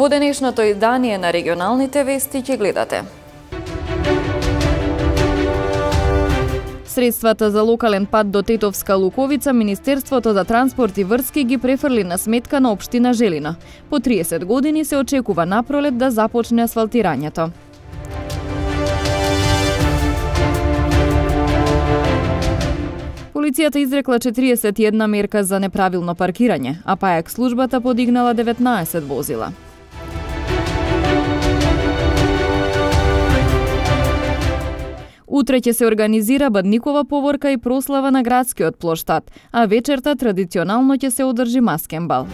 Во денешното издание на регионалните вести ќе гледате. Средствата за локален пат до Тетовска Луковица Министерството за транспорт и врски ги префрли на сметка на општина Желино. По 30 години се очекува напролет да започне асфалтирањето. Полицијата изрекла 41 мерка за неправилно паркирање, а пајак службата подигнала 19 возила. Утре ќе се организира Бадникова поворка и прослава на градскиот плоштад, а вечерта традиционално ќе се одржи маскенбал.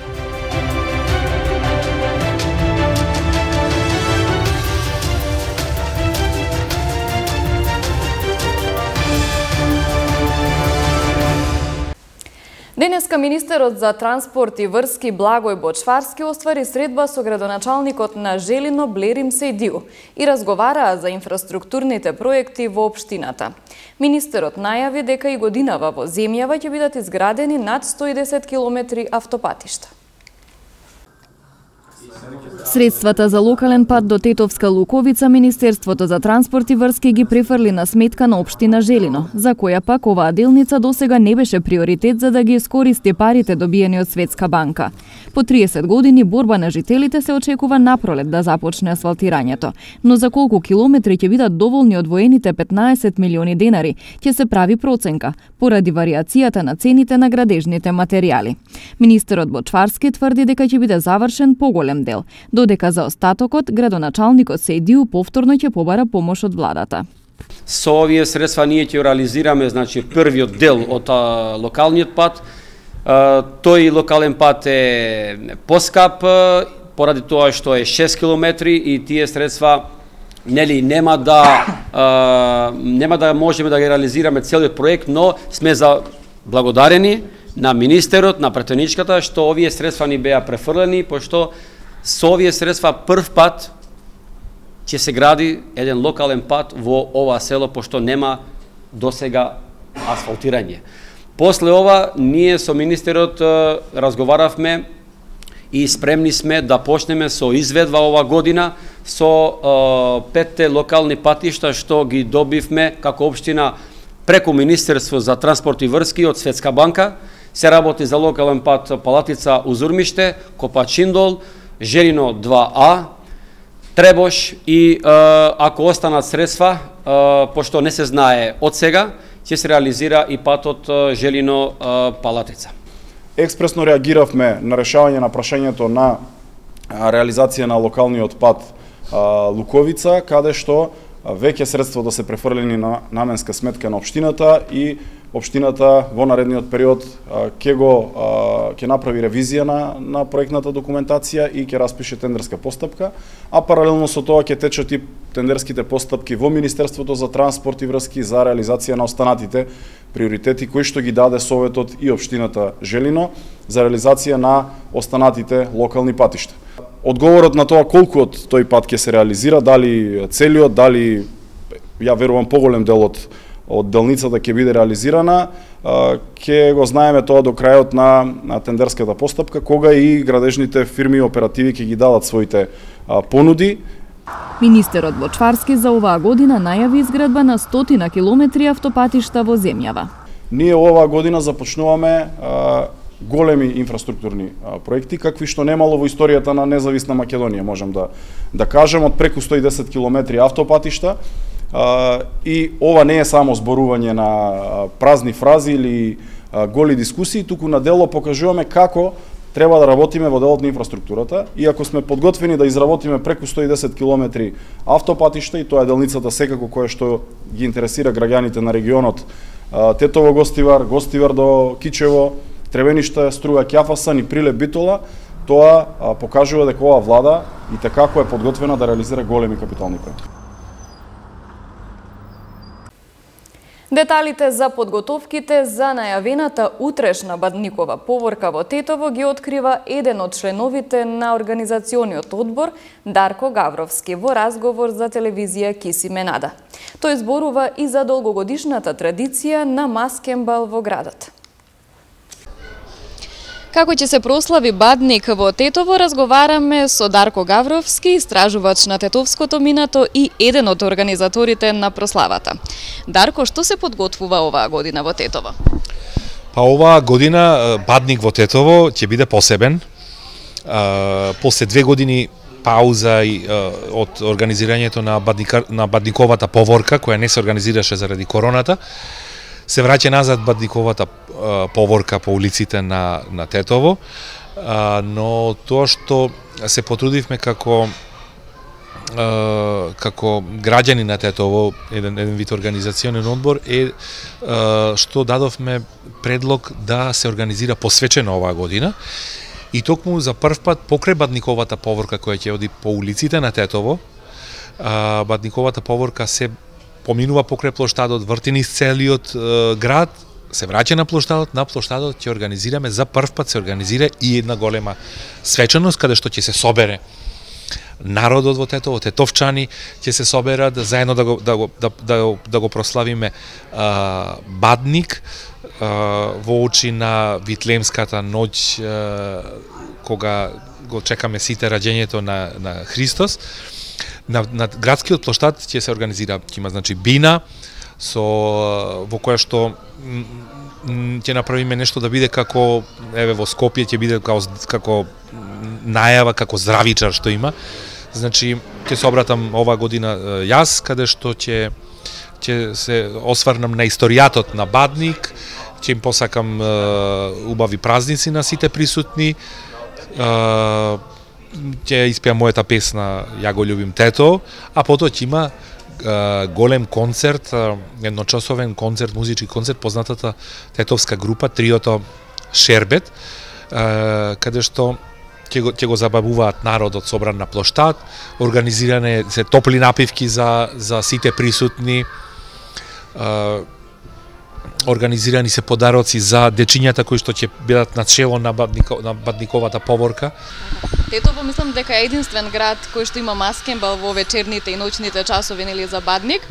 Денеска министерот за транспорт и врски Благој Бочварски оствари средба со градоначалникот на Желино Блерим Сејдиу и разговараа за инфраструктурните проекти во општината. Министерот најави дека и годинава во земјава ќе бидат изградени над 110 километри автопатишта. Средствата за локален пат до Тетовска Луковица Министерството за транспорт и врски ги префрли на сметка на општина Желино, за која пак оваа делница досега не беше приоритет за да ги искористи парите добиени од Светска банка. По 30 години борба на жителите се очекува напролет да започне асфалтирањето, но за колку километри ќе бидат доволни одвоените 15 милиони денари, ќе се прави проценка, поради варијацијата на цените на градежните материјали. Министерот Бочварски тврди дека ќе биде завршен поголем дел, додека за остатокот градоначалникот Сејдиу повторно ќе побара помош од владата. Со овие средства ние ќе реализираме првиот дел од локалниот пат. Тој локален пат е поскап поради тоа што е 6 километри и тие средства нема да можеме да ги реализираме целиот проект, но сме благодарени на министерот, на претеничката што овие средства ни беа префрлени, пошто со овие средства прв пат ќе се гради еден локален пат во ова село, пошто нема досега асфалтирање. После ова, ние со министерот разговаравме и спремни сме да почнеме со изведба ова година со 5 локални патишта што ги добивме како општина преку Министерство за транспорт и врски од Светска банка. Се работи за локален пат Палатица Узурмиште, Копачиндол, Желино 2А, Требош и ако останат средства, пошто не се знае од сега, ќе се реализира и патот Желино Палатица. Експресно реагиравме на решавање на прашањето на реализација на локалниот пат Луковица, каде што веќе средства да се префрлени на наменска сметка на општината и општината во наредниот период ќе направи ревизија на проектната документација и ќе распише тендерска постапка, а паралелно со тоа ќе течат и тендерските постапки во Министерството за транспорт и врски за реализација на останатите приоритети кои што ги даде Советот и општината Желино за реализација на останатите локални патишта. Одговорот на тоа колку од тој пат ќе се реализира, дали целиот, дали ја верувам поголем дел од делницата ќе биде реализирана, ќе го знаеме тоа до крајот на тендерската постапка, кога и градежните фирми и оперативи ќе ги дадат своите понуди. Министерот Бочварски за оваа година најави изградба на 100 километри автопатишта во земјава. Ние оваа година започнуваме големи инфраструктурни проекти, какви што немало во историјата на независна Македонија, можам да кажем, од преку 110 километри автопатишта. И ова не е само зборување на празни фрази или голи дискусии, туку на дело покажуваме како треба да работиме во делот на инфраструктурата и ако сме подготвени да изработиме преку 110 километри автопатишта, и тоа е делницата секако која што ги интересира граѓаните на регионот, Тетово Гостивар, Гостивар до Кичево, Тревениште, Струга Ќафасан и Прилеп Битола, тоа покажува дека оваа влада и како е подготвена да реализира големи капитални проекти. Деталите за подготовките за најавената утрешна Бадникова поворка во Тетово ги открива еден од членовите на организациониот одбор Дарко Гавровски во разговор за телевизија Кисиме Нада. Тој зборува и за долгогодишната традиција на маскенбал во градот. Како ќе се прослави Бадник во Тетово, разговараме со Дарко Гавровски, истражувач на тетовското минато и еден од организаторите на прославата. Дарко, што се подготвува оваа година во Тетово? Па оваа година Бадник во Тетово ќе биде посебен. После 2 години пауза од организирањето на Бадниковата поворка, која не се организираше заради короната, се враќа назад Бадниковата поворка по улиците на Тетово, но тоа што се потрудивме како граѓани на Тетово, еден вид организационен одбор, е што дадовме предлог да се организира посвечено оваа година. И токму за прв пат покрај Бадниковата поворка која ќе оди по улиците на Тетово, Бадниковата поворка се поминува покрај плоштадот, врти низ целиот град, се враќа на плоштадот ќе организираме, за прв пат се организира и една голема свечаност каде што ќе се собере народот во Тетово, тетовчани ќе се соберат заедно да го прославиме Бадник во очи на Витлемската ноќ, кога го чекаме сите раѓењето на Христос. На градскиот плоштад ќе се организира, ќе има значи бина во која што ќе направиме нешто да биде како во Скопје ќе биде како најава, како здравичар што има. Значи ќе се обратам оваа година јас, каде што ќе се осврнам на историјатот на Бадник, ќе им посакам убави празници на сите присутни, ќе испеам мојата песна Ја го љубим Тето, а потоа ќе има голем концерт, едночасовен концерт, музички концерт, познатата тетовска група, триото Шербет, каде што ќе го забавуваат народот собран на плоштад, организиране се топли напивки за сите присутни, организирани се подароци за дечињата кои што ќе бидат на чело на Бадниковата поворка. Тетово мислам дека е единствен град кој што има маскенбал во вечерните и ноќните часови нели за Бадник.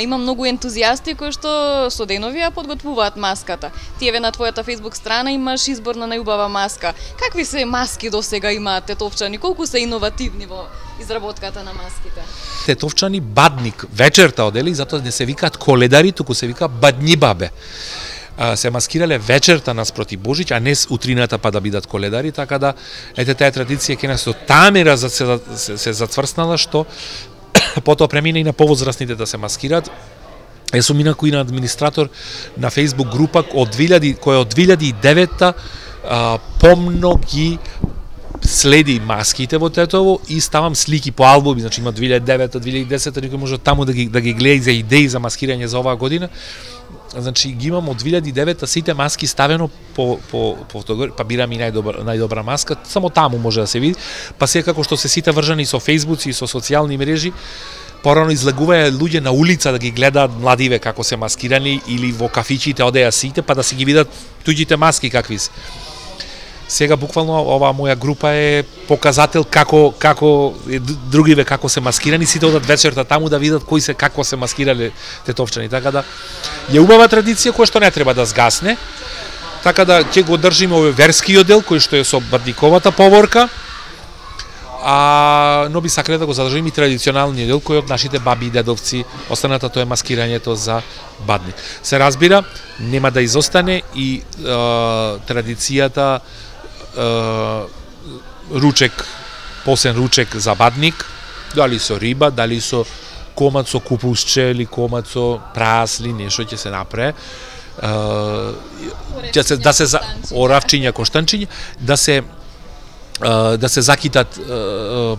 Има многу ентузијасти кои што со денови ја подготвуваат маската. Ти еве на твојата Facebook страна имаш избор на најубава маска. Какви се маски досега имаат тетовчани? Колку се иновативни во изработката на маските? Тетовчани Бадник вечерта одели, затоа не се викаат коледари, туку се вика бадњи бабе. Се маскирале вечерта наспроти Божиќ, а не утрината па да бидат коледари, така да ете таа традиција ке нас тамера се затврснала што потоа премина и на повозрастните да се маскираат. Сум инаку и на администратор на Facebook група која од 2009-та помно ги следи маските во Тетово и ставам слики по албуми, значи има 2009-та, 2010-та, никој може таму да ги гледа за идеи за маскирање за оваа година. Значи ги имам од 2009-та сите маски ставено по фотографија, па бирам и најдобра маска, само таму може да се види. Па секако што се сите вржани со фејсбуци и со социјални мрежи, порано излегуваја луѓе на улица да ги гледаат младиве како се маскирани или во кафичите одеа сите па да си ги видат туѓите маски какви се. Сега буквално оваа моја група е показател како другиве како се маскирани, сите одат вечерта таму да видат кои се како се маскирале тетовчани, така да е убава традиција која што не треба да згасне. Така да ќе го држиме овој верскиот дел кој што е со Бадниковата поворка, но би сакале да го задржиме и традиционалниот дел кој од нашите баби и дедовци, останата тоа е маскирањето за Бадник. Се разбира, нема да изостане и традицијата ручек, посен ручек за Бадник, дали со риба, дали со комат со купусче или комат со прасли, нешто ќе се направи. Оравчиња, коштанчиња, да се закитат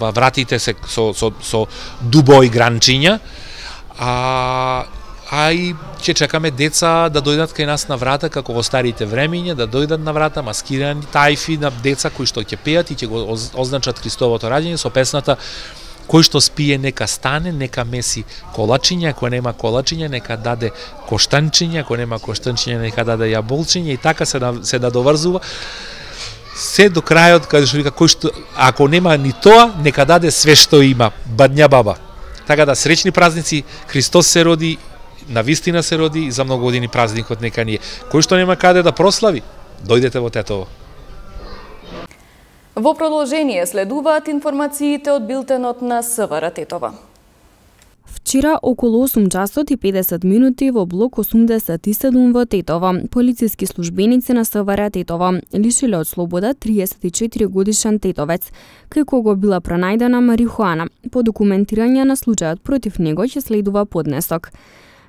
вратите се со дубо и гранчиња, а и ќе чекаме деца да дојдат кај нас на врата, како во старите времиња, да дојдат на врата маскирани тајфи на деца кои што ќе пеат и ќе го означат Христовото раѓање со песната кој што спие нека стане, нека меси колачиња, ако нема колачиња нека даде коштанчиња, ако нема коштанчиња нека даде јаболчиња и така се да доврзува се до крајот каде што вика кој што ако нема ни тоа нека даде све што има, бадња баба. Така да среќни празници, Христос се роди, на вистина се роди и за многу години празникот нека ни е. Кој што нема каде да прослави, дојдете во Тетово. Во продолжение следуваат информациите од билтенот на СВР Тетова. Вчера околу 8 часот и 50 минути во блок 87 во Тетово, полициски службеници на СВР Тетово лишиле од слобода 34 годишен тетовец, кај кого била пронајдена марихуана. По документирање на случајот против него ќе следува поднесок.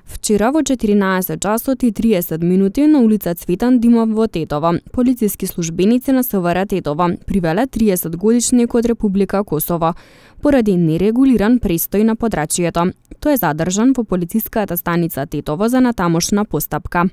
Вчера во 14 часот и 30 минути на улица Цветан Димов во Тетово, полициски службеници на СВР Тетово привеле 30 годишник од Република Косово поради нерегулиран престој на подрачјето. Тој е задржан во полициската станица Тетово за натамошна постапка.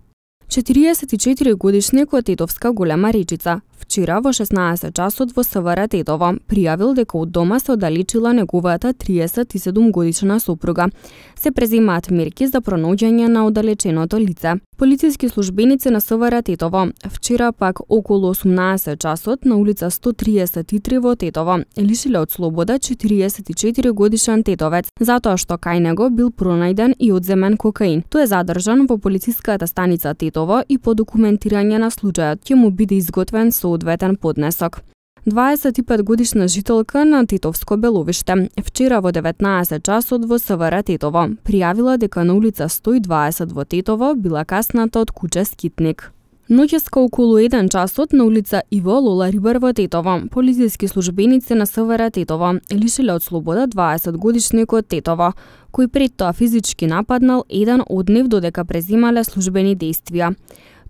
44 годишник од Тетовска Голема Речица вчера во 16 часот во СВР Тетово пријавил дека од дома се оддалечила неговата 37 годишна сопруга. Се преземаат мерки за пронаоѓање на оддалеченото лице. Полициски службеници на СВР Тетово вчера пак околу 18 часот на улица 133 во Тетово лишиле од слобода 44 годишен тетовец затоа што кај него бил пронајден и одземен кокаин. Тој е задржан во полициската станица Тетово и по документирање на случајот ќе му биде изготвен соодветен поднесок. 25 годишна жителка на Тетовско Беловиште вчера во 19 часот во СВР Тетово пријавила дека на улица 120 во Тетово била касната од куче скитник. Ноќеска околу 1 часот на улица Иво Лола Рибар во Тетово, полициски службеници на СВР Тетово лишиле од слобода 20 годишник од Тетово, кој пред тоа физички нападнал еден од нив додека преземале службени действија.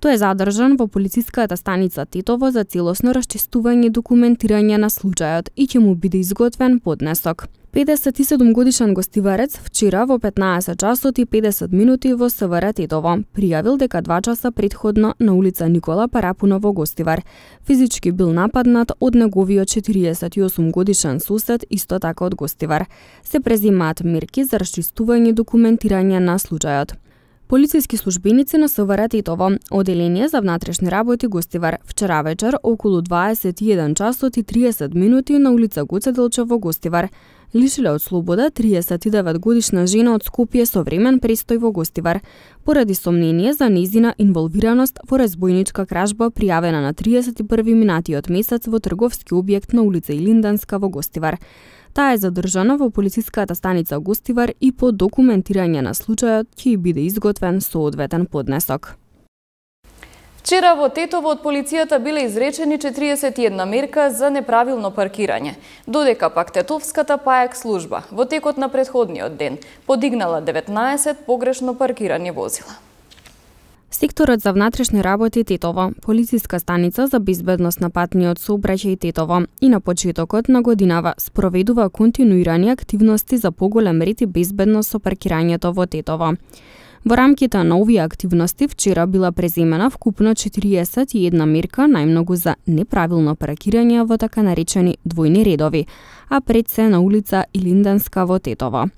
Тој е задржан во полициската станица Тетово за целосно расчистување и документирање на случајот и ќе му биде изготвен поднесок. 57 годишен гостиварец вчера во 15 часот и 50 минути во СВР Тетово пријавил дека 2 часа претходно на улица Никола Парапунов во Гостивар физички бил нападнат од неговиот 48 годишен сосед исто така од Гостивар. Се преземаат мерки за расчистување и документирање на случајот. Полициски службеници на СВР Тетово, оделение за внатрешни работи Гостивар, вчера вечер околу 21 часот и 30 минути на улица Гоце Делчев во Гостивар лишиле од слобода 39 годишна жена од Скопје со времен престој во Гостивар поради сомнение за нејзина инволвираност во разбојничка кражба пријавена на 31 минатиот месец во трговски објект на улица Илинданска во Гостивар. Таа е задржана во полициската станица Гостивар и по документирање на случајот ќе биде изготвен соодветен поднесок. Вчера во Тетово од полицијата биле изречени 41 мерка за неправилно паркирање, додека пак Тетовската ПАЕК служба во текот на претходниот ден подигнала 19 погрешно паркирани возила. Секторот за внатрешни работи Тетово, полициска станица за безбедност на патниот сообраќај Тетово и на почетокот на годинава спроведува континуирани активности за поголем ред и безбедност со паркирањето во Тетово. Во рамките на овие активности вчера била преземена вкупно 41 мерка, најмногу за неправилно паркирање во така наречени двојни редови, а пред се на улица Илинданска во Тетово.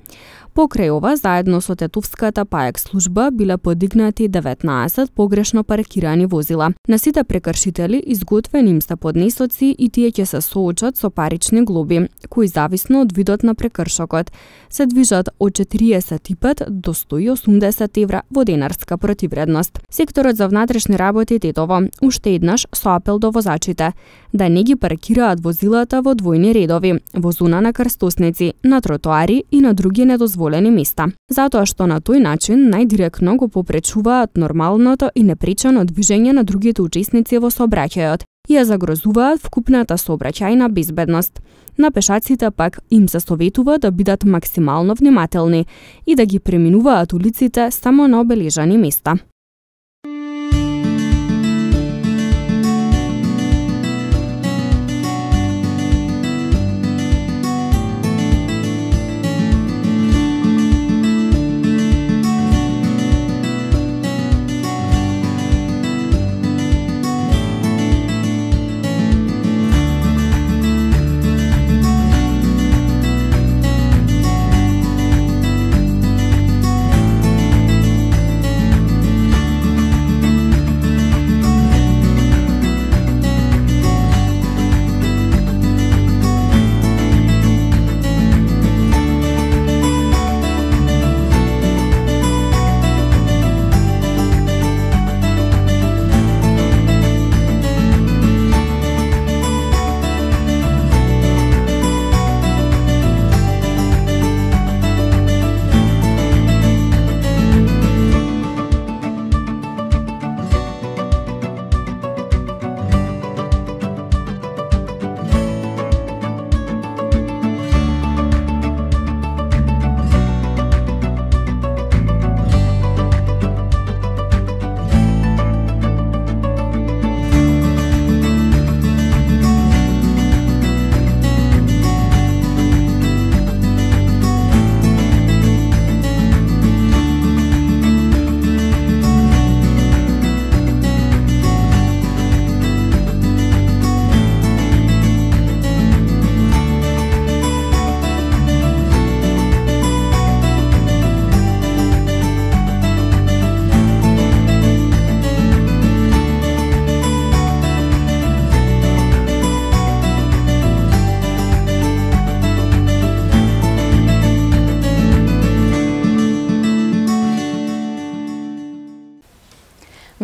Покрај ова, заедно со Тетовската ПАЕК служба биле подигнати 19 погрешно паркирани возила. На сите прекршители изготвени им се поднесоци и тие ќе се соочат со парични глоби, кои зависно од видот на прекршокот се движат од 45 до 180 евра во денарска противредност. Секторот за внатрешни работи Тетово уште еднаш со апел до возачите да не ги паркираат возилата во двојни редови, во зона на крстосници, на тротоари и на други недозволени места, затоа што на тој начин најдиректно го попречуваат нормалното и непречено движење на другите учесници во сообраќајот и ја загрозуваат вкупната сообраќајна безбедност. На пешаците пак им се советува да бидат максимално внимателни и да ги преминуваат улиците само на обележани места.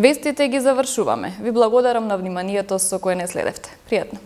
Вестите ги завршуваме. Ви благодарам на вниманието со кое не следевте. Пријатно.